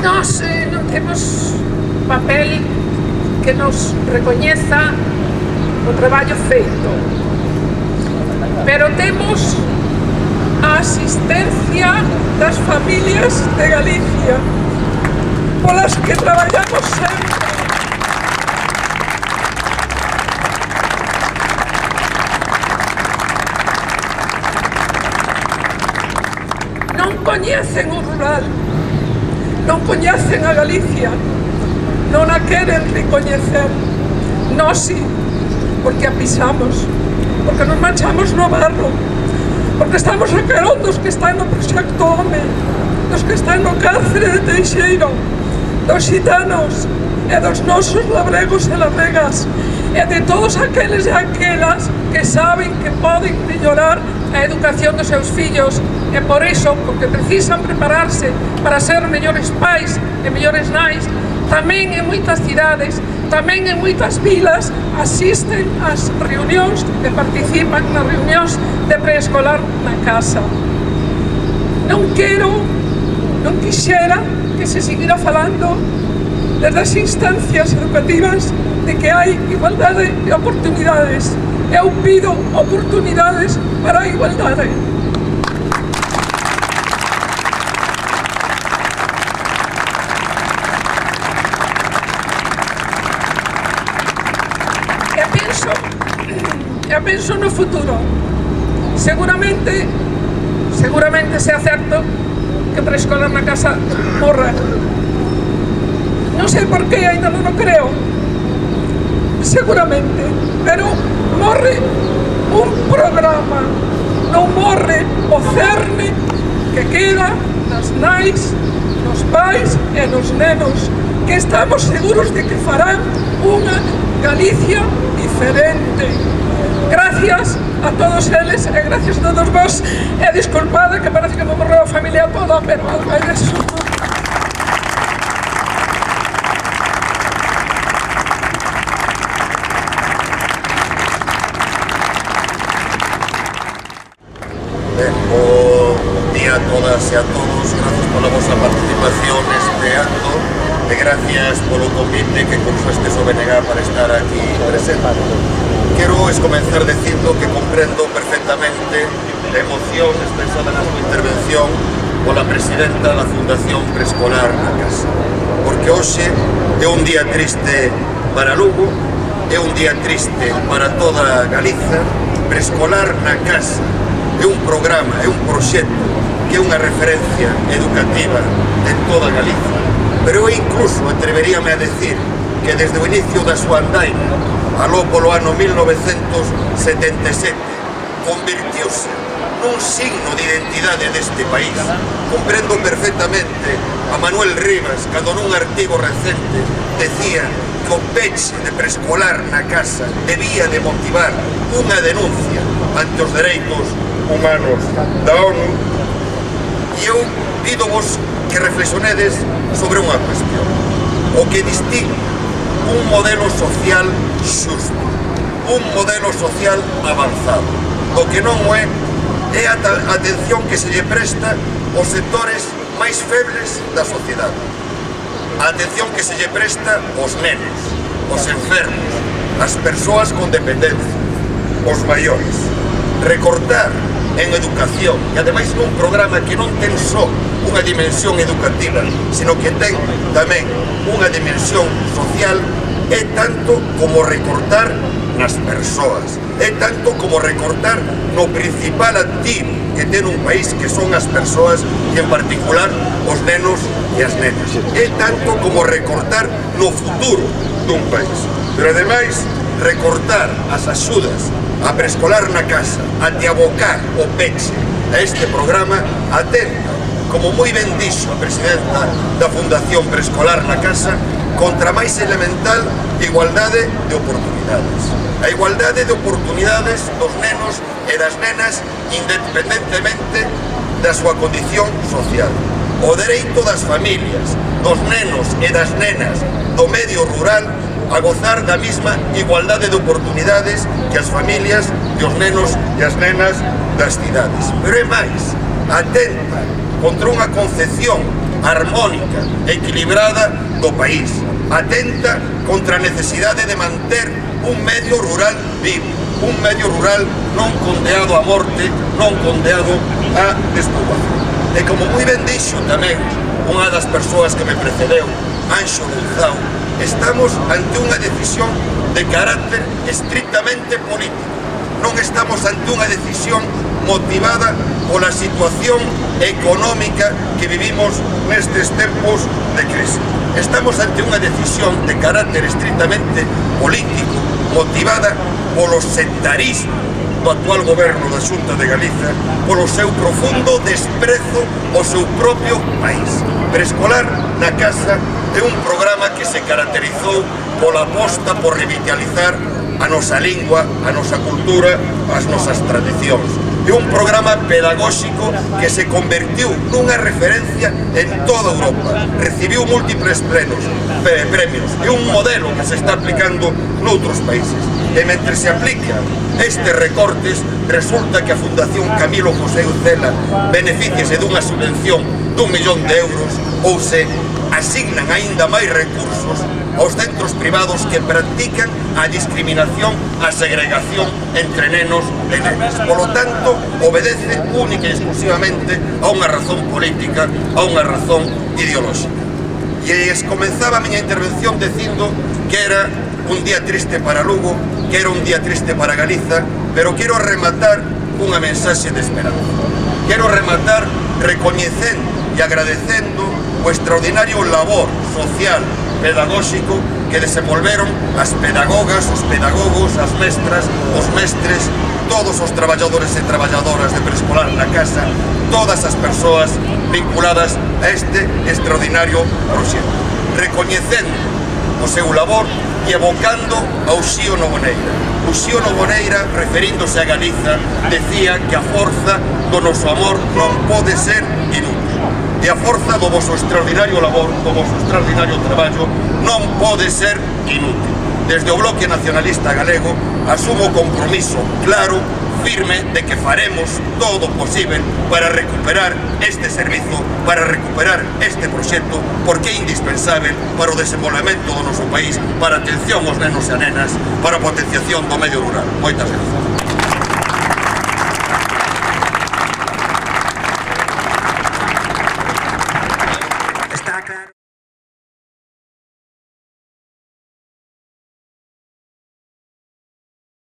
Nós non temos papel que nos recoñeza o traballo feito, pero temos a asistencia das familias de Galicia, polas que traballamos sempre. Non coñecen o rural, non coñecen a Galicia, non a queren recoñecer. Nós sí, porque a pisamos, porque nos manchamos no barro, porque estamos a carón dos que están no Proxecto Home, dos que están no cárcere de Teixeiro, dos xitanos e dos nosos labregos e labregas, e de todos aqueles e aquelas que saben que poden mellorar a educación dos seus fillos, e por iso, porque precisan prepararse para ser mellores pais e mellores nais, tamén en moitas cidades, tamén en moitas vilas asisten ás reunións e participan nas reunións de preescolar na casa. Non quixera que se seguira falando desde as instancias educativas de que hai igualdade de oportunidades. Eu pido oportunidades para a igualdade. E penso no futuro. Seguramente sea certo que preescolar na casa morra. Non sei por qué, ainda non o creo. Seguramente, pero morre un programa, non morre o cerne que queda nas nais, nos pais e nos nenos, que estamos seguros de que farán unha Galicia diferente. Gracias a todos eles e gracias a todos vos, e disculpada que parece que me morreu a familia toda, pero é eso. Bo día a todas e a todos, gracias pola vosa participación neste acto e gracias polo convite que cursastes o BNG para estar aquí presente. Quero comenzar dicindo que comprendo perfectamente a emoción expresada na súa intervención pola presidenta da Fundación Preescolar na Casa, porque hoxe é un día triste para Lugo, é un día triste para toda Galiza. Preescolar na Casa é un programa, é un proxecto que é unha referencia educativa en toda Galicia, pero eu incluso atreveríame a decir que desde o inicio da súa andaina, aló polo ano 1977, convirtiuse nun signo de identidade deste país. Comprendo perfectamente a Manuel Rivas, cando nun artigo recente decía que o peche de preescolar na casa debía de motivar unha denuncia ante os dereitos humanos da ONU, e eu pídovos que reflexionedes sobre unha cuestión: o que distingue un modelo social xusto, un modelo social avanzado, o que non é a atención que se lle presta aos sectores máis febles da sociedade, a atención que se lle presta aos nenos, aos enfermos, as persoas con dependencia, os maiores. Recortar en educación, e ademais nun programa que non ten só unha dimensión educativa, sino que ten tamén unha dimensión social, é tanto como recortar nas persoas, é tanto como recortar no principal activo que ten un país, que son as persoas e en particular os nenos e as nenas, é tanto como recortar no futuro dun país. Pero ademais, recortar as axudas a preescolar na casa, ante abocar o peche a este programa, atenta, como moi ben dixo a presidenta da Fundación Preescolar na Casa, contra a máis elemental igualdade de oportunidades. A igualdade de oportunidades dos nenos e das nenas independentemente da súa condición social. O dereito das familias, dos nenos e das nenas do medio rural a gozar da mesma igualdade de oportunidades que as familias e os nenos e as nenas das cidades. Pero é máis, atenta contra unha concepción armónica, equilibrada do país, atenta contra a necesidade de manter un medio rural vivo, un medio rural non condeado a morte, non condeado a despoboación. E como moi ben dixo tamén unha das persoas que me precedeu, Anxo Louzao, estamos ante unha decisión de carácter estrictamente político. Non estamos ante unha decisión motivada pola situación económica que vivimos nestes tempos de crise. Estamos ante unha decisión de carácter estrictamente político, motivada polo sectarismo do actual goberno da Xunta de Galiza, polo seu profundo desprezo ao seu propio país. Preescolar na Casa é un programa que se caracterizou pola aposta por revitalizar a nosa lingua, a nosa cultura, as nosas tradicións. É un programa pedagóxico que se convertiu nunha referencia en toda Europa. Recibiu múltiples premios. É un modelo que se está aplicando noutros países. E mentre se aplica estes recortes, resulta que a Fundación Camilo José Ucela beneficiase dunha subvención d'1 millón de euros ou se asignan aínda máis recursos aos centros privados que practican a discriminación, a segregación entre nenos e nenas. Polo tanto, obedece única e exclusivamente a unha razón política, a unha razón ideolóxica. E comenzaba a miña intervención dicindo que era un día triste para Lugo, que era un día triste para Galiza, pero quero rematar cunha mensaxe de esperanza. Quero rematar recoñecendo e agradecendo o extraordinario labor social, pedagóxico que desenvolveron as pedagogas, os pedagogos, as mestras, os mestres, todos os traballadores e traballadoras de Preescolar na Casa, todas as persoas vinculadas a este extraordinario proxecto. Recoñecendo o seu labor e evocando a Uxío Noboneira. Uxío Noboneira, referíndose a Galiza, decía que a forza do noso amor non pode ser inútil. E a forza do vosso extraordinario labor, do vosso extraordinario traballo, non pode ser inútil. Desde o Bloque Nacionalista Galego asumo o compromiso claro, firme, de que faremos todo o posible para recuperar este servizo, para recuperar este proxecto, porque é indispensable para o desenvolvemento do noso país, para a atención aos nenos e a nenas, para a potenciación do medio rural. Moitas grazas.